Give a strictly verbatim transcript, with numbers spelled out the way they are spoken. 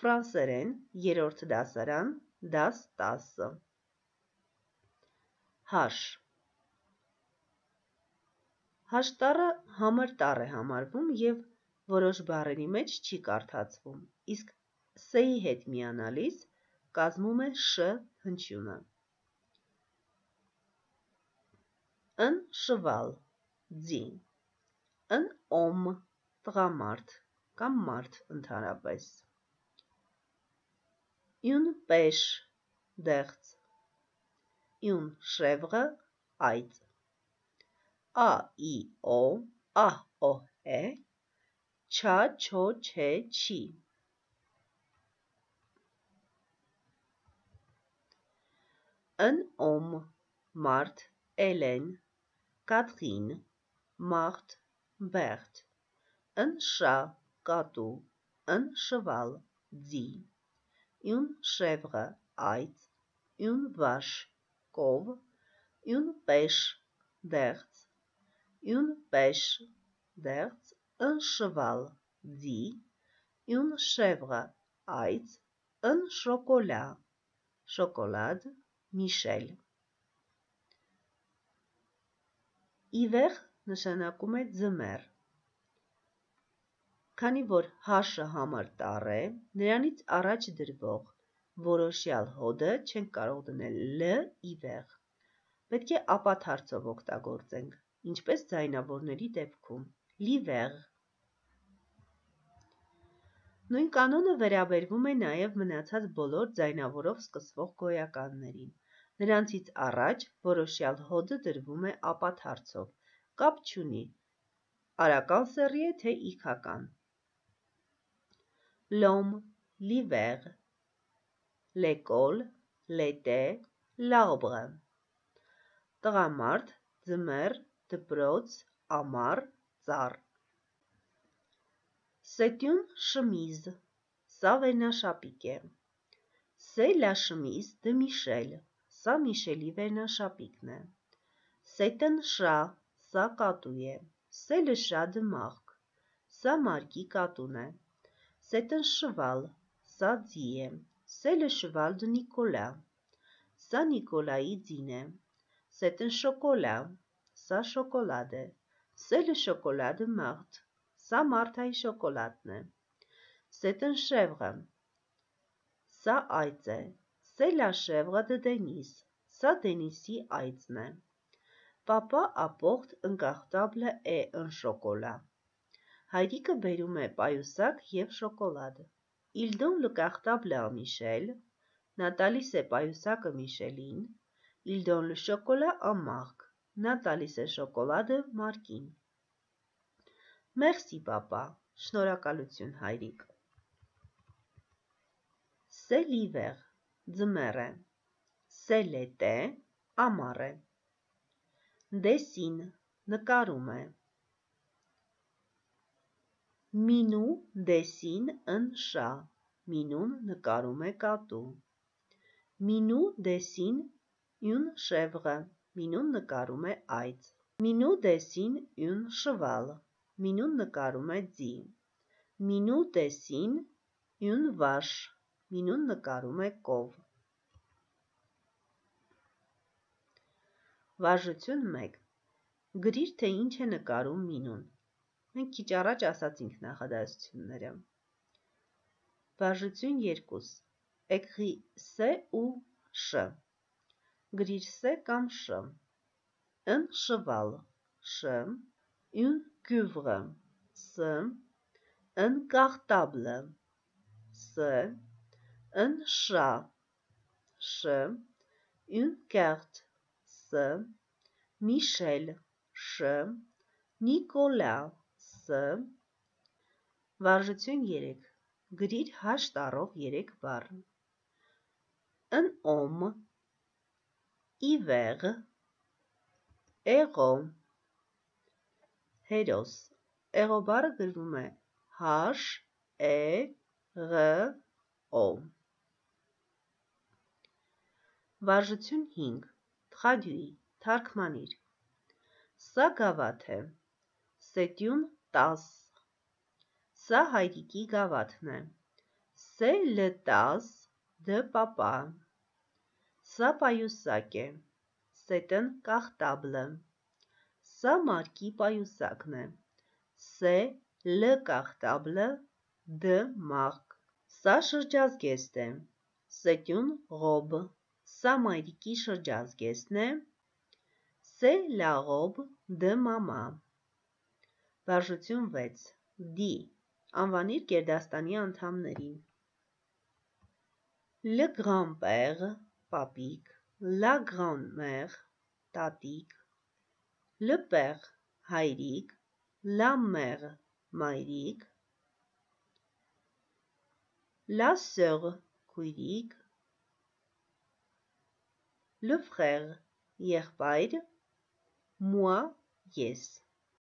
Ֆրանսերեն երրորդ դասարան դաս տասը Հաշ Հաշտառը համր տառ է համարվում և որոշ բառերի մեջ չի կարդացվում, իսկ ս-ի հետ միանալիս կազմում է շ հնչյունը։ Ն շվալ ձի Ն օմ տղամարդ կամ մարդ ընդհանրապես Յուն պեշ դեղց Յուն շևղը այծ Ա ի օ ահ օհ է Չա չո չէ չի Ն օմ մարդ էլեն Կատղին մաղթ բեղտ Ն շա կատու Ն շվալ ձի Յուն շևղը այծ Յուն վաշ կով Յուն պեշ դեղց Յուն պեշ դեղց Ն շվալ ձի Յուն շևղը այծ Ն շոկոլա շոկոլադ Միշել Իվեղ նշանակում է ձմեռ։ Քանի որ հաշը համր տառ է, նրանից առաջ դրվող որոշյալ հոդը չենք կարող դնել լ իվեղ։ Պետք է ապաթարցով օգտագործենք, ինչպես ձայնավորների դեպքում՝ լիվեղ։ Նույն կանոնը վերաբերվում է նաև մնացած բոլոր ձայնավորով սկսվող գոյականներին։ Նրանցից առաջ որոշյալ հոդը դրվում է ապաթարցով, կապ չունի արական սեռի է, թե իգական։ Լոմ, լիվեղ, լեկոլ, լետե, լարբրը Տղամարդ, ձմեռ, դպրոց, ամառ, ծառ C'est une chemise Սա վերնաշապիկ է։ C'est la chemise de Michel Սա Միշելի վերնաշապիկն է։ C'est un chat Սա կատու է։ C'est le chat de Marc Սա Մարկի կատուն է։ C'est un cheval Սա ձի է։ C'est le cheval de Nicolas Սա Նիկոլայի ձին է։ C'est un chocolat Սա շոկոլադ է։ C'est le chocolat de Marthe Սա Մարթայի շոկոլադն է։ C'est un chèvre Սա այծ է։ C'est la chèvre de Denis Սա Դենիսի այծն է։ Papa apporte un cartable et un chocolat Հայրիկը բերում է պայուսակ և շոկոլադ։ Il donne le cartable à Michel Նա տալիս է պայուսակը Միշելին։ Il donne le chocolat à Marc Նա տալիս է շոկոլադը Մարկին։ Merci papa Շնորհակալություն հայրիկ։ C'est l'hiver Ձմեռ է։ C'est l'été Ամառ է։ Dessine նկարում է։ Minou dessine un chat Մինուն նկարում է կատու։ Minou dessine une chèvre Մինուն նկարում է այծ։ Minou dessine un cheval Մինուն նկարում է ձի։ Minou dessine une vache Մինուն նկարում է կով։ Վարժություն մեկ Գրիր, թե ինչ է նկարում Մինուն։ Մենք քիչ առաջ ասացինք նախադասությունները։ Վարժություն երկու Écris C ou Ш Գրիր C կամ Շ Un cheval Շ Une cuivre S Un cartable S Un chat Շ Une carte S Michel Շ Նիկոլա S Վարժություն երեք Գրիր հաշ տառով երեք բառ։ Un homme Hiver Héros Հերոս Հերո բառը գրվում է H E R O Վարժություն հինգ Traduis թարգմանիր Սա գավաթ է C'est une tasse Սա հայրիկի գավաթն է C'est le tas de papa. Սա պայուսակ է, c'est un cartable. Սա մարկի պայուսակն է, c'est le cartable de Marc. Սա շրջազգեստ է, c'est une robe. Սա մայրիկի շրջազգեստն է, c'est la robe de maman. Վարժություն վեց. D. Անվանիր գերդաստանի անդամներին. Le grand-père, պապիկ, la grand-mère, տատիկ, le père, հայրիկ, la mère, մայրիկ, la sœur, քույրիկ, le frère, եղբայր, moi, ես.